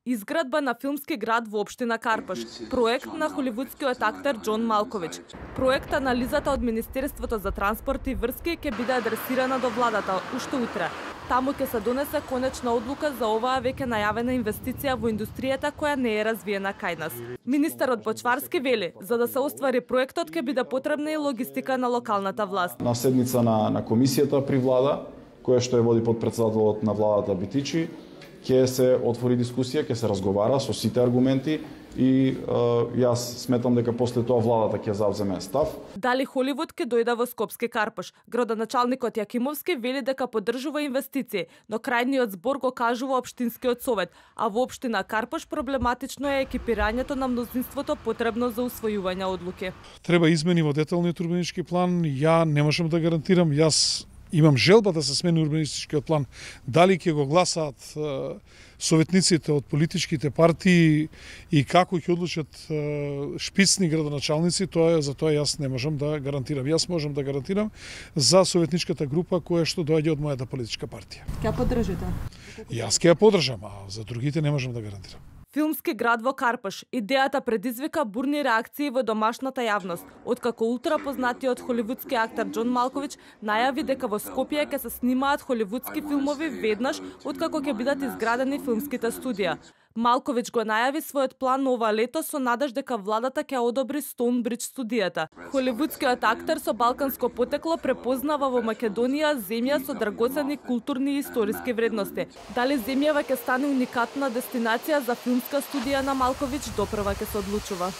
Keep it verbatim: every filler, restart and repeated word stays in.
Изградба на филмски град во општина Карпаш. Проект на холивудскиот актер Џон Малкович. Проект анализата од Министерството за транспорт и врски ќе биде адресирана до владата уште утре. Таму ќе се донесе конечна одлука за оваа веќе најавена инвестиција во индустријата која не е развиена кај нас. Министерот Почварски вели, за да се оствари проектот ќе биде потребна и логистика на локалната власт. На седница на, на комисијата при влада, која што ја води подпредседателот на владата Битичи, ќе се отвори дискусија, ќе се разговара со сите аргументи и е, јас сметам дека после тоа владата ќе завземе став. Дали Холивуд ќе дојде во Скопски Карпаш? Градоначалникот Јакимовски вели дека поддржува инвестиции, но крајниот збор го кажува општинскиот совет, а во општина Карпаш проблематично е екипирањето на мнозинството потребно за усвојување одлуки. Треба измени во деталниот урбанистички план, ја не можам да гарантирам, јас имам желба да се смени урбанистичкиот план. Дали ќе го гласаат е, советниците од политичките партии и како ќе одлучат е, шпицни градоначалници, тоа за тоа јас не можам да гарантирам. Јас можам да гарантирам за советничката група која што доаѓа од мојата политичка партија. Ќе поддржите? Јас ќе ја поддржам, а за другите не можам да гарантирам. Филмски град во Карпаш. Идејата предизвика бурни реакции во домашната јавност, откако ултрапознатиот холивудски актер Џон Малкович најави дека во Скопје ќе се снимаат холивудски филмови веднаш откако ќе бидат изградени филмските студија. Малкович го најави својот план ова лето со надеж дека владата ќе одобри Стоунбридж студијата. Холивудскиот актер со балканско потекло препознава во Македонија земја со драгоцени културни и историски вредности. Дали земјава ќе стане уникатна дестинација за филмска студија на Малкович, допрва ќе се одлучува.